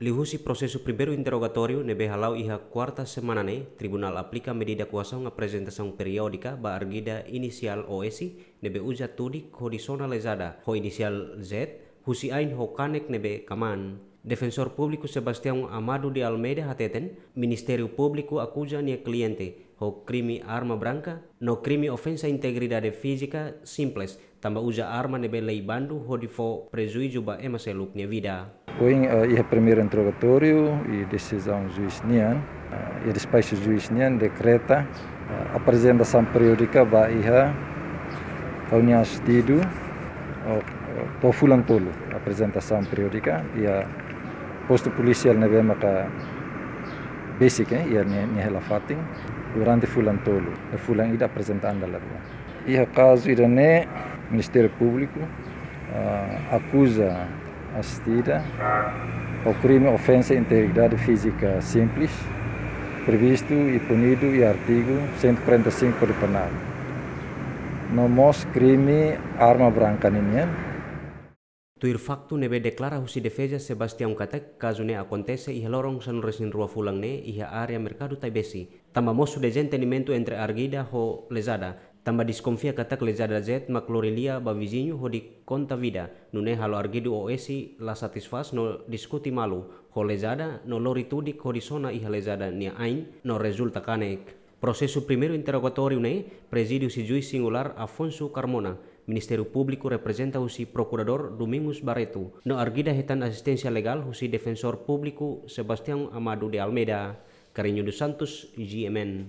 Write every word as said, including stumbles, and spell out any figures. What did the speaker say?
Liuhusi prosesu primeiru interrogatóriu ne'ebé hala'o iha kuarta semana ne'e, tribunál aplika medida koasaun aprezentasaun periódika ba arguida inisiál O S, ne'ebé uza tudik hodi sona lezada ho inisiál Z, husi ain ho kanek ne'ebé kamaan. Defensór Públiku Sebastião Amado de Almeida hateten, Ministériu Públiku akuza nia kliente ho krime arma branka no krime ofensa integridade fízika simples, tanba uza arma ne'ebé lei bandu hodi fó prejuízu ba ema seluk nia vida. Ohin, eh, iha primeiru interrogatóriu i desizaun juís nian, eh, i despaxu juís nian dekreta, eh, aprezentasaun periódika ba iha reuniaun assistidu, o, o, to'o fulan tolu aprezentasaun periódika iha postu polisiál ne'ebé maka besik, eh, iha nia, nia hela fatin durante fulan tolu, eh, fulan ida aprezenta an dala rua. Iha kazu ida-ne'e, Ministériu Públiku, ah, akuza asistida ho krime ofensa integridade fízika simples, previstu i punidu iha artigu cento e quarenta e cinco Kódigu Penál. No mós krime arma branka ninian. Tuir faktu ne'ebé deklara husi defeza, Sebastião katak kazu ne'e akontese iha loron sanulu-resin-rua fulan ne'e iha área Merkadu Taibesi. Tanba mosu dezentendimentu entre arguida ho lezada, tanba deskonfia katak lezada Z mak lori lia ba viziñu hodi konta vida, nune'e halo arguidu O S la satisfás no diskute malu ho lezada no lori tudik hodi sona iha lezada nia ain no rezulta kanek. Prosesu primeiru interrogatóriu ne'e prezide husi juís singulár Afonso Carmona. Ministériu Públiku reprezenta husi Prokuradór Domingos Barreto, no arguida hetan asisténsia legál husi Defensór Públiku Sebastião Amado de Almeida. Carreño dos Santos, G M N.